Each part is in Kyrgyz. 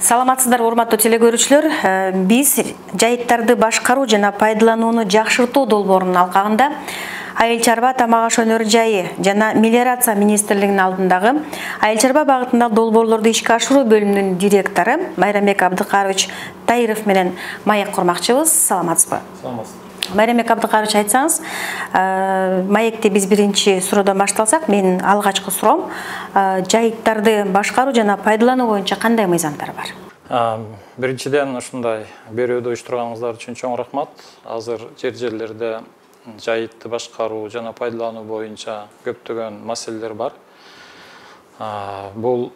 Саламатсыздар, урматтуу телекөрүүчүлөр. Биз жайыттарды башкаруу жана пайдаланууну жакшыртуу долбоорунун алкагында Айыл чарба тамак аш өнөр жайы жана мелиорация министрлигинин алдындагы айыл чарба багытындагы долбоорлорду ишке ашыруу бөлүмүнүн директору Майрамбек Абдыкарович Таиров менен маек курмакчыбыз. Саламатсызбы? Саламатсыз. Майрамбек Абдыкарович, айтсаңыз, маекте биз биринчи суроодон башталсак, менин алгачкы суроом жайыттарды башкаруу жана пайдалануу боюнча кандай мыйзамдар бар? Биринчиден ушундай берүүдө уюштурганыңыздар үчүн чоң рахмат. Азыр жерлерде жайытты башкаруу жана пайдалануу боюнча көптөгөн маселелер бар. Бул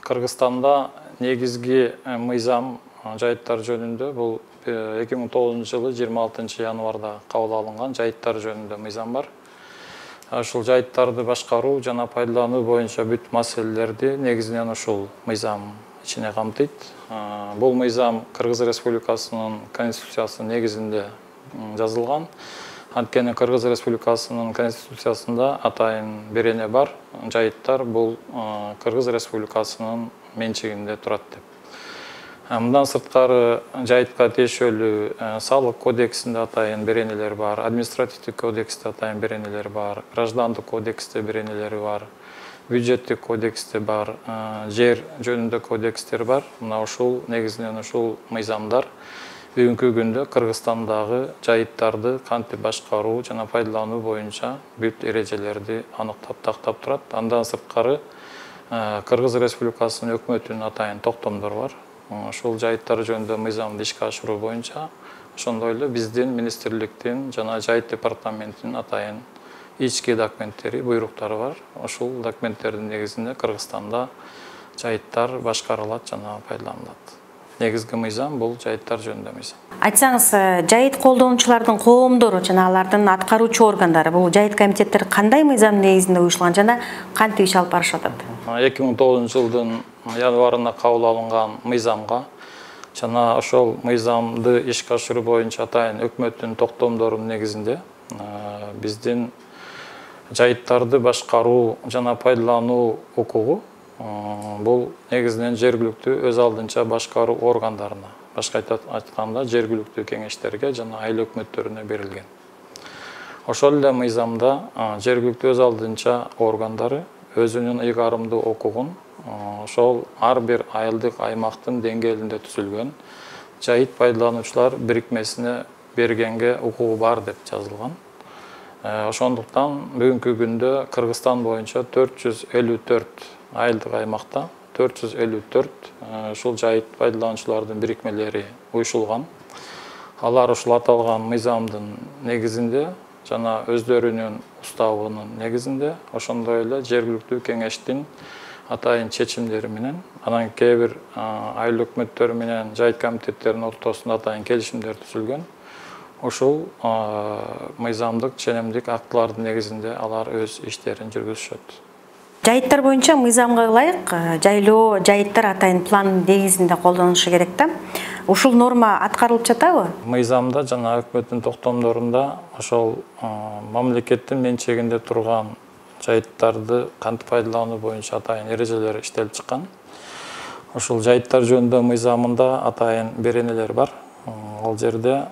Кыргызстанда негизги мыйзам жайыттар жөнүндө бул 2009 жылы 26 январда кабыл алынган жайыттар жөнүндө мыйзам бар. Ушул жайыттарды башкаруу жана пайдалануу боюнча бүт маселелерди негизинен ушул мыйзам ичине камтыйт. Бул мыйзам Кыргыз Республикасынын Конституциясынын негизинде жазылган. Анткени Кыргыз Республикасынын Конституциясында атайын берене бар. Жайыттар бул Кыргыз Республикасынын менчигинде турат деп. Мындан сырткары жайытка тиешелүү салык кодексинде атайын беренелер бар, административдик кодексте атайын беренелер бар, граждандык кодексте беренелери бар, бюджеттик кодексте бар, жер жөнүндө кодекстер бар. Мына ушул негизинен ушул мыйзамдар бүгүнкү күндө Кыргызстандагы жайыттарды кантип башкаруу жана пайдалануу боюнча бүт эрежелерди аныктап тактап турат. Андан сырткары Кыргыз Республикасынын өкмөтүнүн атайын токтомдору бар. Ушул жайыттар жөнүндө мыйзамды ишке ашыруу боюнча ошондой эле биздин министрликтин жана жайыт департаментинин атайын ички документтери, буйруктары бар. Ушул документтердин негизинде Кыргызстанда жайыттар башкарылат жана пайдаланылат. Негизги мыйзам бул жайыттар жөнүндө мыйзам. Айтсаңыз, жайыт колдонуучулардын коомдору жана алардын аткаруучу органдары, бул жайыт комитеттери кандай мыйзам негизинде уюшулган жана кантип иш алып барышып атат? 2009 жылдын январында кабыл алынган мыйзамга жана ошол мыйзамды ишке ашыруу боюнча атайын өкмөттүн токтомдорунун негизинде биздин жайыттарды башкаруу жана пайдалануу укугу бул негизинен жергиликтүү өз алдынча башкаруу органдарына, башка айтканда жергиликтүү кеңештерге жана айыл өкмөттөрүнө берилген. Ошол эле мыйзамда жергиликтүү өз алдынча органдары өзүнүн ыйгарымдуу укугун ошол ар бир айылдык аймактын деңгээлинде түзүлгөн жайыт пайдалануучулар бирикмесине бергенге укугу бар деп жазылган. Ошондуктан бүгүнкү күндө Кыргызстан боюнча 454 айылдык аймакта 454 ушул жайыт пайдалануучулардын бирикмелери уюшулган. Алар ушул аталган мыйзамдын негизинде жана өздөрүнүн уставынын негизинде ошондой эле жергиликтүү кеңештин атайын чечимдери менен, анан кээ бир айыл өкмөттөрү менен жайыт комитеттеринин ортосунда атайын келишимдер түзүлгөн. Ушул мыйзамдык ченемдик актылардын негизинде алар өз иштерин жүргүзүшөт. Жайыттар боюнча мыйзамга ылайык жайлоо жайыттар атайын план негизинде колдонулушу керек да. Ушул норма аткарылып жатабы? Мыйзамда жана өкмөттүн токтомдорунда ошол мамлекеттин менчигинде турган жайыттарды кантип пайдалануу боюнча атайын эрежелер иштелип чыккан. Ошол жайыттар жөнүндө мыйзамында атайын беренелер бар. Ал жерде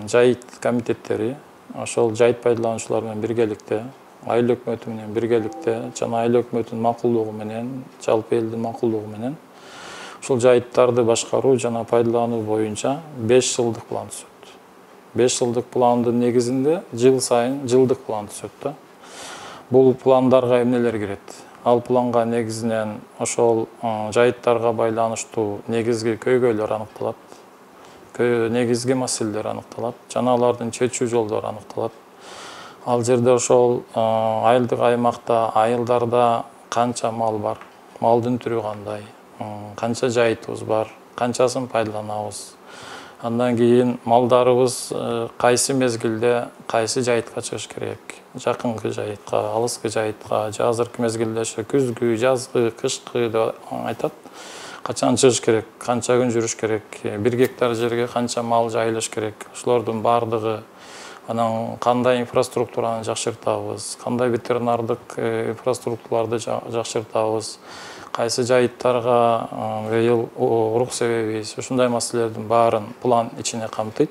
жайыт комитеттери ошол жайыт пайдалануучулар менен биргеликте, айыл өкмөтү менен биргеликте жана айыл өкмөтүнүн макулдугу менен, жалпы элдин макулдугу менен ушул жайыттарды башкаруу жана пайдалануу боюнча 5 жылдык план түзөт. 5 жылдык пландын негизинде жыл сайын жылдык план түзөт да. Бул пландарга эмнелер кирет? Ал планга негизинен ошол жайыттарга байланыштуу негизги көйгөйлөр аныкталат, негизги маселелер аныкталат жана алардын чечүү жолдору аныкталат. Ал жерде ошол айылдык аймакта, айылдарда канча мал бар, малдын түрү кандай, канча жайытыбыз бар, канчасын пайдаланабыз. Андан кийин малдарыбыз кайсы мезгилде кайсы жайытка чыгыш керек? Жакынкы жайытка, алыскы жайытка, азыркы мезгилде күзгү, жазгы, кышкы деп айтат. Качан чыгыш керек, канча күн жүрүш керек, 1 гектар жерге канча мал жайылыш керек. Ошолордун бардыгы анан кандай инфраструктураны жакшыртабыз, кандай ветеринардык инфраструктураларды жакшыртабыз, кайсы жайыттарга быйыл урук себебиз, ушундай маселелердин баарын план ичине камтыйт.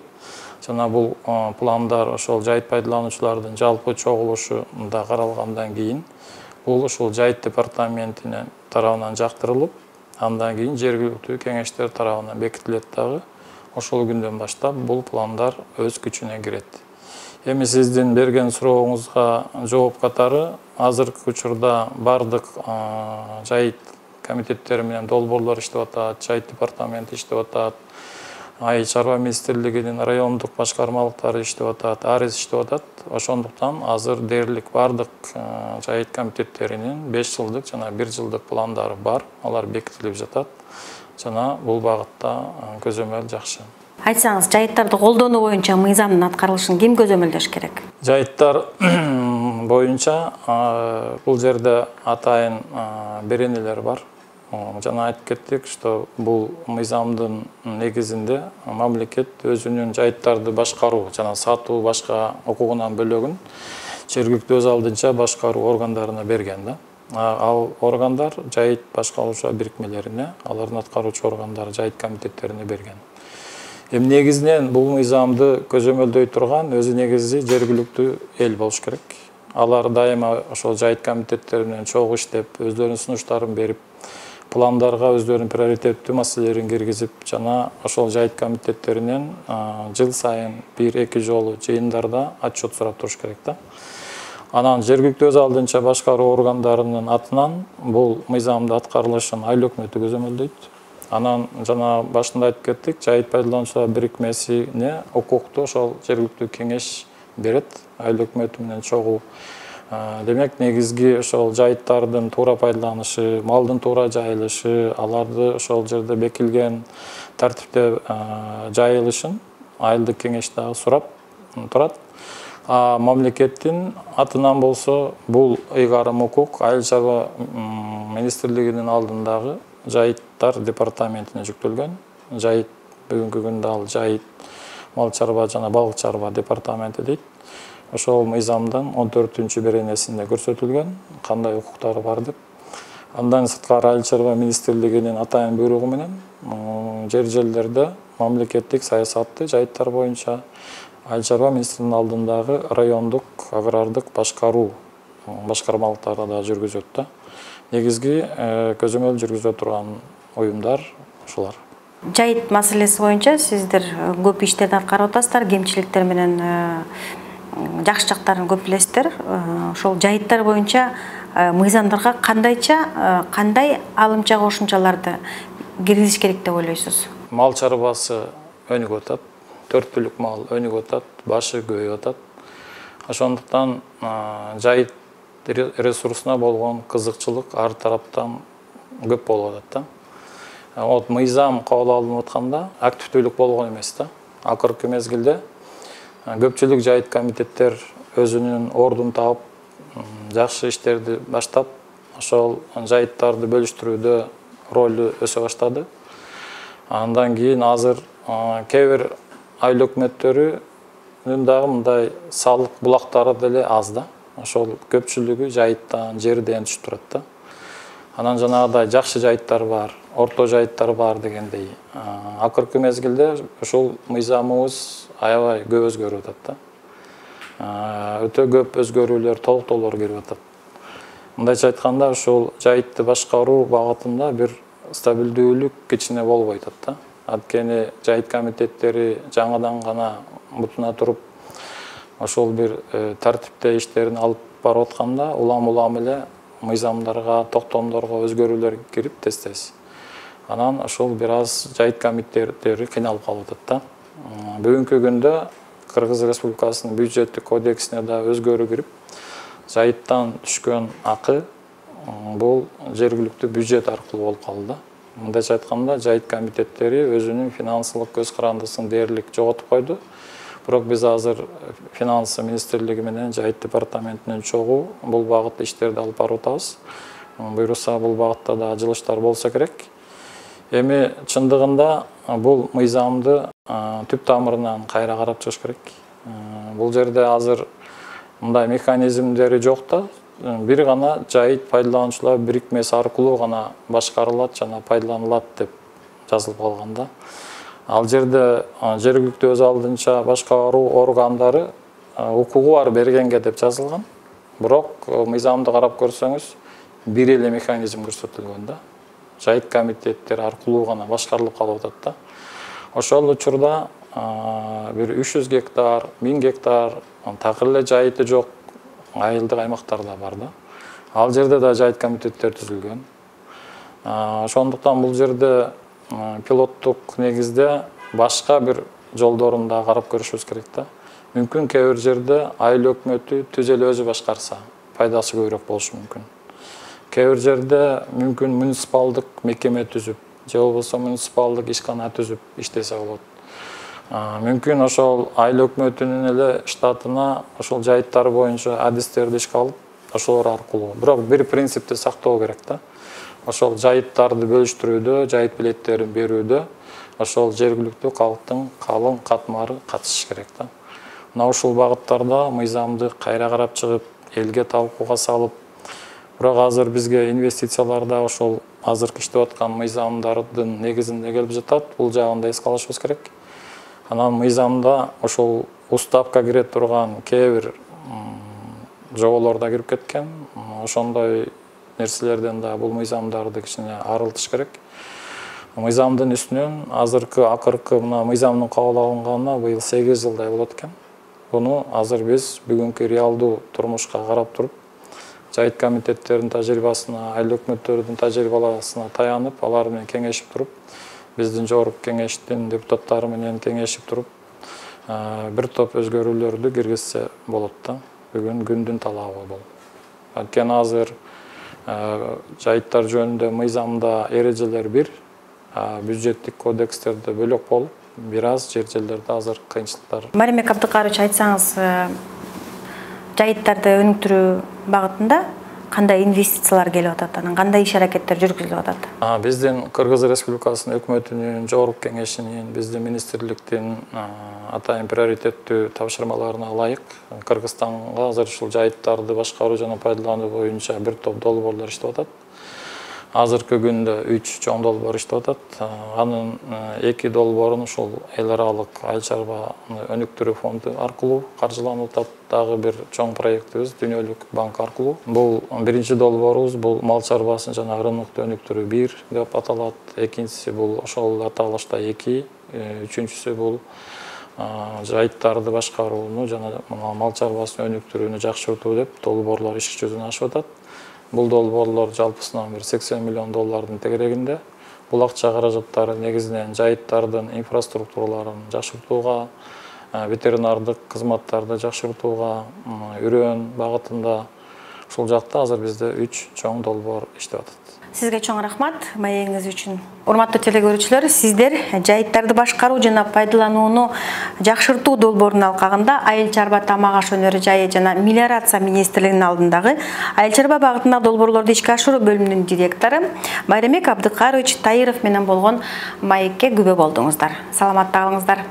Жана бул пландар ошол жайыт пайдалануучулардын жалпы чогулушунда каралгандан кийин бул ушул жайыт департаментинин тарабынан жактырылып, андан кийин жергиликтүү кеңештер тарабынан бекитилет дагы. Ошол күндөн баштап бул пландар өз күчүнө кирет. Эми сиздин берген сурооңузга жооп катары азыркы учурда бардык жайыт комитеттери менен долбоорлор иштеп атат, жайыт департаменти иштеп атат, Айыл чарба министрлигинин райондук башкармалыктары иштеп атат, арыз иштеп атат. Ошондуктан азыр дээрлик бардык жайыт комитеттеринин 5 жылдык жана 1 жылдык пландары бар. Алар бекитилип жатат. Жана бул багытта көзөмөл жакшы. Айтсаңыз, жайыттарды колдонуу боюнча мыйзамдын аткарылышын ким көзөмөлдөш керек? Жайыттар боюнча бул жерде атайын беренелер бар. Жана айтып кеттик, что бул мыйзамдын негизинде мамлекет өзүнүн жайыттарды башкаруу жана сатуу башка укугунан бөлөгүн жергиликтүү өз алдынча башкаруу органдарына берген да. Ал органдар жайыт башкаруучу бирикмелерине, алардын аткаруучу органдары жайыт комитеттерине берген. Эми негизинен бул мыйзамды көзөмөлдөй турган өзү негизи жергиликтүү эл болуш керек. Алар дайыма ошол жайыт комитеттери менен чогуу иштеп, өздөрүнүн сунуштарын берип, пландарга өздөрүнүн приоритеттүү маселелерин киргизип, жана ошол жайыт комитеттеринен жыл сайын 1-2 жолу жыйындарда отчет сурап туруш керек да. Анан жергиликтүү өз алдынча башкаруу органдарынын атынан бул мыйзамды аткарылышын айыл өкмөтү көзөмөлдөйт. Анан жана башында айтып кеттик, жайыт пайдалануучулар бирикмесине укукту ошол жергиликтүү кеңеш берет, айыл өкмөтү менен чогуу. Демек, негизги ошол жайыттардын туура пайдаланышы, малдын туура жайылышы, аларды ошол жерде бекилген тартипте жайылышын айылдык кеңеш дагы сурап турат. Мамлекеттин атынан болсо бул ыйгарым укук айыл чарба министрлигинин алдындагы жайыттар департаментине жүктөлгөн. Жайыт бүгүнкү күндө ал жайыт мал чарба жана балык чарба департаменти дейт. Ошол мыйзамдын 14-күн беренесинде көрсөтүлгөн, кандай укуктары бар деп. Андан сырткары айыл чарба министрлигинин атайын буйругу менен жерлерде мамлекеттик саясатты жайыттар боюнча айыл чарба министринин алдындагы райондук агрардык башкаруу башкармалыктары да жүргүзөт да. Негизги көзөмөл жүргүзө турган уюмдар ушулар. Жайыт маселеси боюнча сиздер көп иштерди аткарып атасыздар, кемчиликтер менен жакшы жактарын көп билесиздер. Ошол жайыттар боюнча мыйзамдарга кандай алымча кошумчаларды киргизиш керек деп ойлойсуз? Мал чарбасы өнүгүп атат, 4 түлүк мал өнүгүп атат, башы көбөйүп атат. Ошондуктан жайыт ресурсуна болгон кызыкчылык ар тараптан көп болуп атат да. Мыйзам кабыл алынып атканда активдүүлүк болгон эмес да. Акыркы мезгилде көпчүлүк жайыт комитеттер өзүнүн ордун таап, жакшы иштерди баштап, ошол жайыттарды бөлүштүрүүдө ролу өсө баштады. Андан кийин азыр кээ бир айыл өкмөттөрүнүн дагы мындай салык булактары деле аз да. Ошол көпчүлүгү жайыттан, жерден түшүп турат да. Анан жанагыдай жакшы жайыттар бар, орто жайыттар бар дегендей. Акыркы мезгилде ушул мыйзамыбыз аябай көп өзгөрүп атат да. Өтө көп өзгөрүүлөр, толуктоолор кирип атат. Мындайча айтканда, ушул жайытты башкаруу багытында бир стабилдүүлүк ичине болбой атат да. Анткени жайыт комитеттери жаңадан гана бутуна туруп, ошол бир тартипте иштерин алып барып атканда, улам эле мыйзамдарга, токтомдорго өзгөрүүлөр кирип тез-тез. Анан ошол бир аз жайыт комитеттери кыйналып калып атат да. Бүгүнкү күндө Кыргыз Республикасынын бюджеттик кодексине да өзгөрүү кирип, жайыттан түшкөн акы бул жергиликтүү бюджет аркылуу болуп калды. Мындайча айтканда, жайыт комитеттери өзүнүн финансылык көз карандысын дээрлик жоготуп койду. Бирок биз азыр финансы министрлиги менен жайыт департаментинен чогуу бул багытта иштерди алып барып атабыз. Буйруса бул багытта да жылыштар болсо керек. Эми чындыгында бул мыйзамды түп тамырынан кайра карап чыгыш керек. Бул жерде азыр мындай механизмдери жок да. Бир гана жайыт пайдалануучулар бирикмеси аркылуу гана башкарылат жана пайдаланылат деп жазылып калган да. Ал жерде жергиликтүү өз алдынча башкаруу органдары укугу бар бергенге деп жазылган. Бирок мыйзамды карап көрсөңүз, бир эле механизм көрсөтүлгөн да. Жайыт комитеттери аркылуу гана башкарылып калып атат да. Ошол учурда бир 300 гектар, 1000 гектар такыр эле жайыты жок айылдык аймактарда бар да. Ал жерде да жайыт комитеттери түзүлгөн. Ошондуктан бул жерде пилоттук негизде башка бир жолдорун да карап көрүшүбүз керек да. Мүмкүн кээ бир жерде айыл өкмөтү түз эле өзү башкарса, пайдасы көбүрөөк болушу мүмкүн. Кээ бир жерде мүмкүн муниципалдык мекеме түзүп, же болбосо муниципалдык ишкана түзүп иштесе болот. Мүмкүн ошол айыл өкмөтүнүн эле штатына ошол жайыттар боюнча адистерди ишке алып, ошолор аркылуу. Бирок бир принципти сактоо керек да. Ошол жайыттарды бөлүштүрүүдө, жайыт билеттерин берүүдө ошол жергиликтүү калктын калың катмары катышыш керек да. Мына ушул багыттарда мыйзамды кайра карап чыгып, элге талкууга салып, бирок азыр бизге инвестицияларда ошол азыркы иштеп аткан мыйзамдардын негизинде келип жатат. Бул жагын да эске алышыбыз керек. Анан мыйзамда ошол уставка кире турган кээ бир жоболор да кирип кеткен. Ошондой нерселерден да бул мыйзамдарды кичине арылтыш керек. Мыйзамдын үстүнөн азыркы акыркы мына мыйзамдын кабыл алынганына быйыл 8 жылдай болот экен. Буну азыр биз бүгүнкү реалдуу турмушка карап туруп, жайыт комитеттердин тажрыйбасына, айыл өкмөттөрдүн тажрыйбасына таянып, алар менен кеңешип туруп, биздин жогорку кеңештин депутаттары менен кеңешип туруп, бир топ өзгөрүүлөрдү киргизсе болот да. Бүгүн күндүн талабы бул. Анткени азыр жайыттар жөнүндө мыйзамда эрежелер бир, бюджеттик кодекстерде бөлөк болуп, бир аз жерлерде азыр кыйынчылыктар. Маримбек Абдыкарович, айтсаңыз, жайыттарды өнүктүрүү багытында кандай инвестициялар келип атат, анан кандай иш аракеттер жүргүзүлүп атат? Биздин Кыргыз Республикасынын өкмөтүнүн, жогорку кеңешинин, биздин министрликтин атайын приоритеттүү тапшырмаларына ылайык Кыргызстанга азыр ушул жайыттарды башкаруу жана пайдалануу боюнча бир топ долбоорлор иштеп атат. Азыркы күндө 3 чоң долбоор иштеп атат. Анын 2 долбоорун ушул эл аралык айыл чарбаны өнүктүрүү фонду аркылуу каржыланып атат. Дагы бир чоң проектибиз Дүйнөлүк банк аркылуу. Бул биринчи долбоорубуз, бул мал чарбасын жана рынокту өнүктүрүү 1 деп аталат. Экинчиси бул ошол аталышта 2, үчүнчүсү бул жайыттарды башкарууну жана мал чарбасын өнүктүрүүнү жакшыртуу деп долбоорлор иш жүзүнө ашып атат. Бул долбоорлор жалпысынан бир 80 миллион доллардын тегерегинде. Бул акча каражаттары негизинен жайыттардын инфраструктураларын жакшыртууга, ветеринардык кызматтарды жакшыртууга, үрөөн багытында ушул жакта азыр бизде 3 чоң долбоор иштеп атат. Сизге чоң рахмат маегиңиз үчүн. Урматтуу телекөрүүчүлөр, сиздер жайыттарды башкаруу жана пайдаланууну жакшыртуу долбоорунун алкагында Айыл чарба тамак аш өнөрү жайы жана мелиорация министрлигинин алдындагы айыл чарба багытындагы долбоорлорду ишке ашыруу бөлүмүнүн директору Маримбек Абдыкарович Таиров менен болгон маекке күбө болдуңуздар. Саламатта калыңыздар.